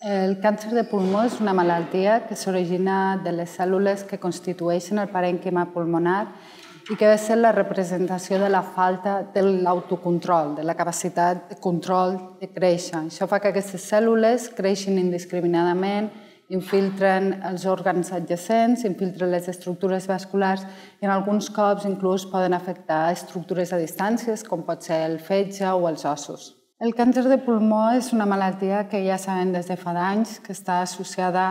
El càncer de pulmó és una malaltia que s'origina de les cèl·lules que constitueixen el parènquima pulmonar i que ha de ser la representació de la falta de l'autocontrol, de la capacitat de control de créixer. Això fa que aquestes cèl·lules creixin indiscriminadament, infiltren els òrgans adjacents, infiltren les estructures vasculars i en alguns cops inclús poden afectar estructures a distàncies, com pot ser el fetge o els ossos. El càncer de pulmó és una malaltia que ja sabem des de fa d'anys que està associada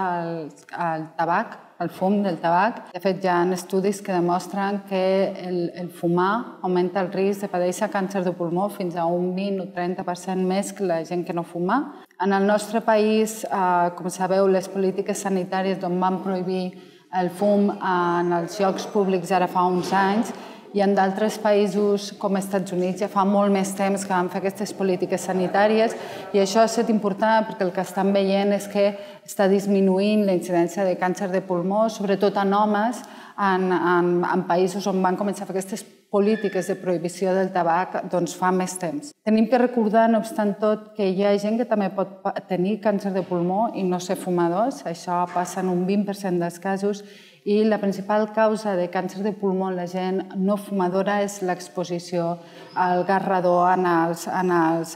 al tabac, al fum del tabac. De fet, hi ha estudis que demostren que el fumar augmenta el risc de patir càncer de pulmó fins a un 20 o 30% més que la gent que no fuma. En el nostre país, com sabeu, les polítiques sanitàries van prohibir el fum en els llocs públics ara fa uns anys, i en d'altres països, com els Estats Units, ja fa molt més temps que van fer aquestes polítiques sanitàries i això ha estat important perquè el que estan veient és que està disminuint la incidència de càncer de pulmó, sobretot en homes, en països on van començar a fer aquestes polítiques de prohibició del tabac fa més temps. Tenim que recordar, no obstant tot, que hi ha gent que també pot tenir càncer de pulmó i no ser fumadors. Això passa en un 20% dels casos i la principal causa de càncer de pulmó en la gent no fumadora és l'exposició al gas radó en els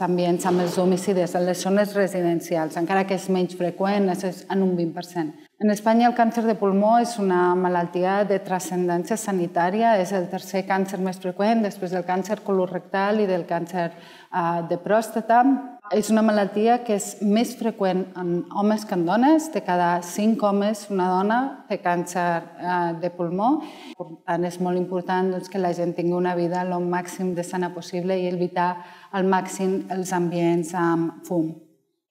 ambients, amb els domicilis, en les zones residencials, encara que és menys freqüent, és en un 20%. En Espanya el càncer de pulmó és una malaltia de transcendència sanitària, és el tercer càncer més freqüent després del càncer colorectal i del càncer de pròstata. És una malaltia que és més freqüent en homes que en dones. De cada 5 homes, una dona té càncer de pulmó. Per tant, és molt important que la gent tingui una vida el màxim de sana possible i evitar al màxim els ambients amb fum.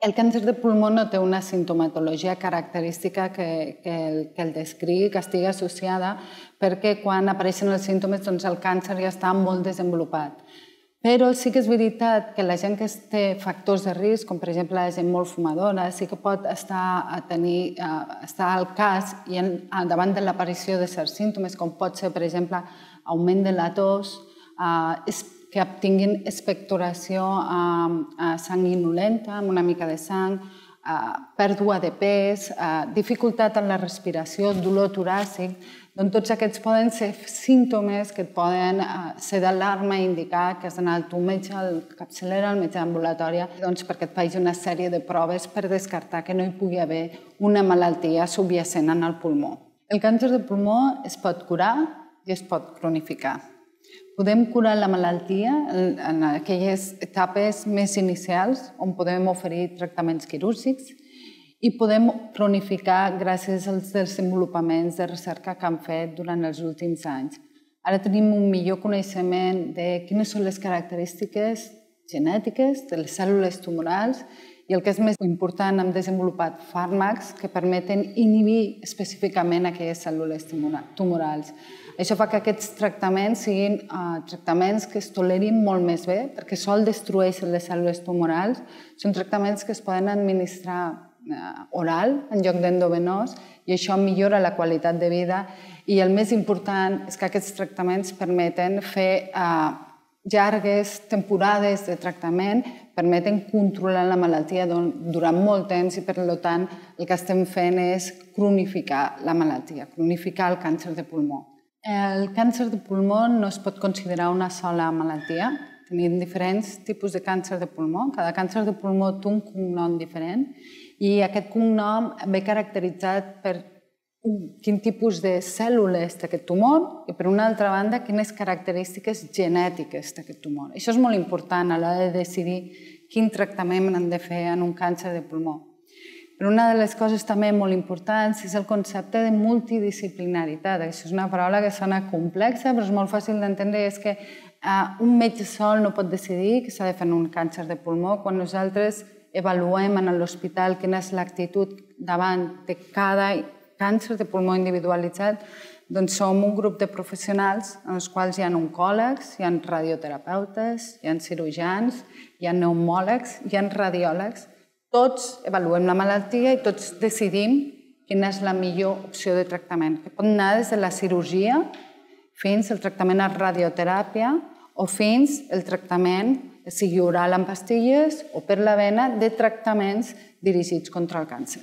El càncer de pulmó no té una simptomatologia característica que el descrigui, que estigui associada, perquè quan apareixen els símptomes el càncer ja està molt desenvolupat. Però sí que és veritat que la gent que té factors de risc, com per exemple la gent molt fumadora, sí que pot estar al cas i davant de l'aparició de certs símptomes, com pot ser, per exemple, augment de la tos, que tinguin expectoració sanguinolenta, amb una mica de sang, pèrdua de pes, dificultat en la respiració, dolor toràcic. Tots aquests poden ser símptomes que poden ser d'alarma i indicar que has d'anar al teu metge, al capçalera, al metge d'ambulatòria, perquè et faci una sèrie de proves per descartar que no hi pugui haver una malaltia subjacent en el pulmó. El càncer de pulmó es pot curar i es pot cronificar. Podem curar la malaltia en aquelles etapes més inicials on podem oferir tractaments quirúrgics i podem cronificar gràcies als desenvolupaments de recerca que han fet durant els últims anys. Ara tenim un millor coneixement de quines són les característiques genètiques de les cèl·lules tumorals i el que és més important, hem desenvolupat fàrmacs que permeten inhibir específicament aquelles cèl·lules tumorals. Això fa que aquests tractaments siguin tractaments que es tolerin molt més bé perquè sol destrueixen les cèl·lules tumorals. Són tractaments que es poden administrar oral en lloc d'endovenós i això millora la qualitat de vida i el més important és que aquests tractaments permeten fer llargues temporades de tractament, permeten controlar la malaltia durant molt temps i per tant el que estem fent és cronificar la malaltia, cronificar el càncer de pulmó. El càncer de pulmó no es pot considerar una sola malaltia. Tenim diferents tipus de càncer de pulmó. Cada càncer de pulmó té un cognom diferent i aquest cognom ve caracteritzat per quin tipus de cèl·lules té aquest tumor i, per una altra banda, quines característiques genètiques té aquest tumor. Això és molt important a l'hora de decidir quin tractament hem de fer en un càncer de pulmó. Però una de les coses també molt importants és el concepte de multidisciplinaritat. Això és una paraula que sona complexa, però és molt fàcil d'entendre. És que un metge sol no pot decidir que s'ha de fer un càncer de pulmó. Quan nosaltres avaluem en l'hospital quina és l'actitud davant de cada càncer de pulmó individualitzat, doncs som un grup de professionals en els quals hi ha oncòlegs, hi ha radioterapeutes, hi ha cirurgians, hi ha pneumòlegs, hi ha radiòlegs. Tots avaluem la malaltia i tots decidim quina és la millor opció de tractament, que pot anar des de la cirurgia fins al tractament a radioteràpia o fins al tractament sigui oral en pastilles o per la vena, de tractaments dirigits contra el càncer.